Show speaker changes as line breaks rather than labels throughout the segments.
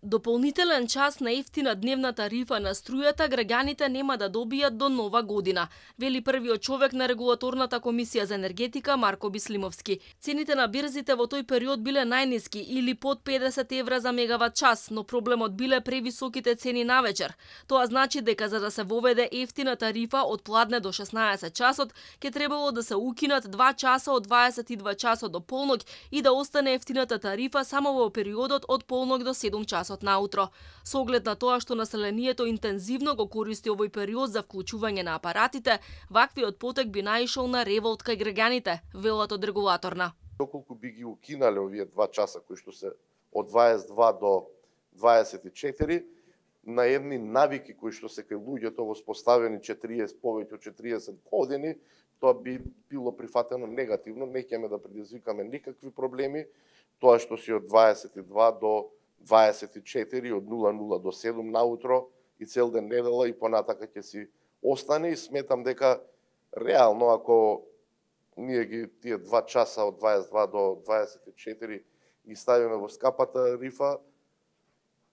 Дополнителен час на ефтина дневна тарифа на струјата граѓаните нема да добијат до нова година, вели првиот човек на регулаторната комисија за енергетика Марко Бислимовски. Цените на бирзите во тој период биле најниски или под 50 евра за мегават час, но проблемот биле превисоките цени навечер. Тоа значи дека за да се воведе ефтина тарифа од пладне до 16 часот, ќе требало да се укинат 2 часа од 22 часот до полнок и да остане ефтината тарифа само во периодот од полнок до 7 часот наутро. Со оглед на тоа што населението интензивно го користи овој период за вклучување на апаратите, ваквиот потек би наишол на револт кај граѓаните, велат од регулаторна.
Доколку би ги укинале овие 2 часа кои што се од 22 до 24, на едни навики кои што се кај луѓето воспоставени повеќе од 40 години, тоа би било прифатено негативно, не ќе да предизвикаме никакви проблеми. Тоа што си од 22 до 24, од 00 до 7 наутро и цел ден недела и понатака ќе си остане и сметам дека реално ако ние ги тие 2 часа од 22 до 24 ги ставиме во скапата рифа,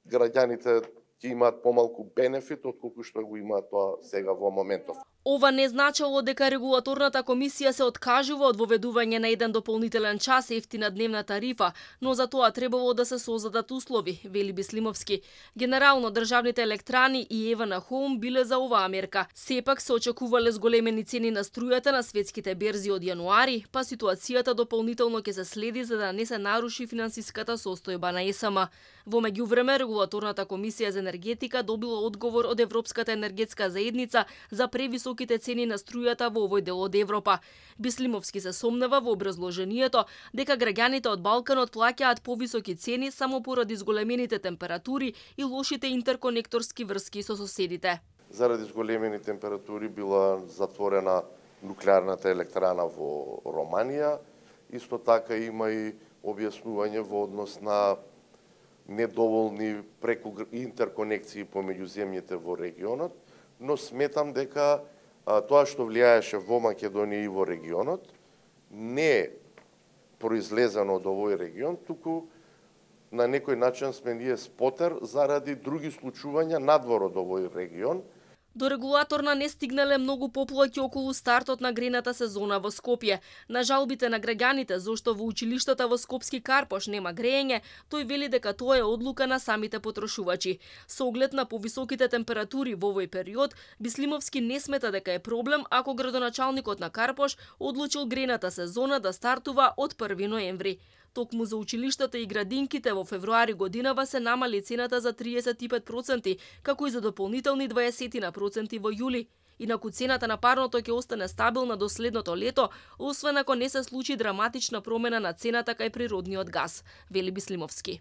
граѓаните ќе имаат помалку бенефит отколку што го имаат тоа сега во моментов.
Ова не значело дека регулаторната комисија се откажува од воведување на еден дополнителен час ефтина дневна тарифа, но за тоа требало да се создадат услови, вели Бислимовски. Генерално државните електрани и Евана Хоум биле за оваа мерка. Сепак се очекувале зголемени цени на струјата на светските берзи од јануари, па ситуацијата дополнително ќе се следи за да не се наруши финансиската состојба на ЕСМ. Во меѓувреме регулаторната комисија за енергетика добила одговор од Европската енергетска заедница за превисоките цени на струјата во овој дел од Европа. Бислимовски се сомнева во образложението дека граѓаните од Балканот плаќаат повисоки цени само поради зголемените температури и лошите интерконекторски врски со соседите.
Заради зголемени температури била затворена нуклеарната електрана во Романија. Исто така има и објаснување во однос на недоволни интерконекции помеѓу земјите во регионот, но сметам дека тоа што влијаеше во Македонија и во регионот не е произлезено од овој регион, туку на некој начин сме ние спотер заради други случувања надвор од овој регион.
До регулаторна не стигнале многу поплаќи околу стартот на грената сезона во Скопје. На жалбите на граѓаните зошто во училиштата во Скопски Карпош нема грејење, тој вели дека тоа е одлука на самите потрошувачи. Со оглед на повисоките температури во овој период, Бислимовски не смета дека е проблем ако градоначалникот на Карпош одлучил грената сезона да стартува од 1 ноември. Токму за училиштата и градинките во февруари годинава се намали цената за 35%, како и за дополнителни 20% во јули. Инаку цената на парното ќе остане стабилна до следното лето, освен ако не се случи драматична промена на цената кај природниот газ, вели Бислимовски.